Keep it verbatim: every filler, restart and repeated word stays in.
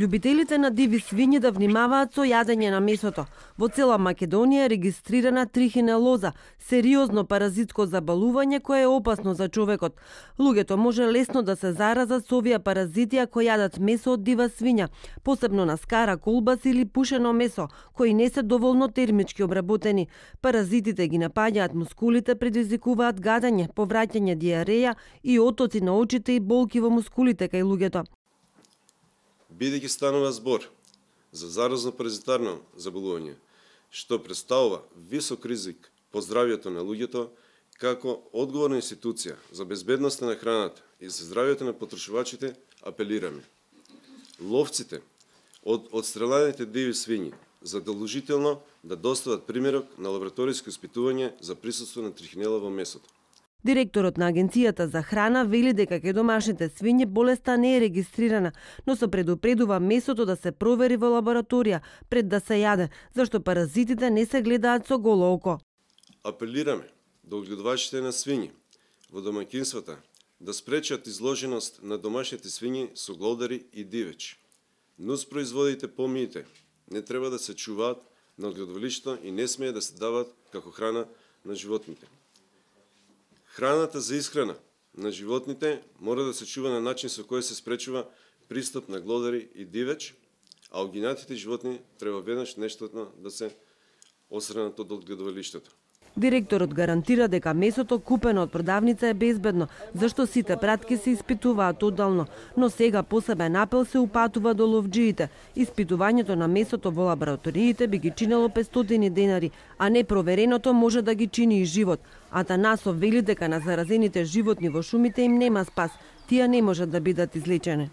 Љубителите на диви свињи да внимаваат со јадење на месото. Во цела Македонија е регистрирана трихинелоза, сериозно паразитско заболување кое е опасно за човекот. Луѓето може лесно да се заразат со овие паразити ако јадат месо од дива свиња, посебно на скара, колбас или пушено месо, кои не се доволно термички обработени. Паразитите ги напаѓаат мускулите, предизвикуваат гадење, повраќање, диареја и отоци на очите и болки во мускулите кај луѓето. Бидејќи станува збор за заразно паразитарно заболување, што представува висок ризик по здравјето на луѓето, како одговорна институција за безбедноста на храната и за здравјето на потрошувачите, апелираме. Ловците од одстрелените диви свињи задолжително да достават примерок на лабораториско испитување за присуство на трихинела во месото. Директорот на Агенцијата за храна вели дека кај домашните свињи болеста не е регистрирана, но се предупредува месото да се провери во лабораторија пред да се јаде, зашто паразитите не се гледаат со голо око. Апелираме до одгледувачите на свињи во домаќинствата да спречат изложеност на домашните свињи со глодари и дивеч. Нуспроизводите помиите не треба да се чуваат на одгледувалишто и не смее да се дават како храна на животните. Храната за исхрана на животните мора да се чува на начин со кој се спречува пристап на глодари и дивеч, а огинатите животни треба веднаш нештатно да се осранат од одгледувалиштето. Директорот гарантира дека месото купено од продавница е безбедно, зашто сите пратки се испитуваат оддално, но сега посебен апел се упатува до ловџиите. Испитувањето на месото во лабораториите би ги чинело петстотини денари, а непровереното може да ги чини и живот. Атанасов вели дека на заразените животни во шумите им нема спас, тие не можат да бидат излечени.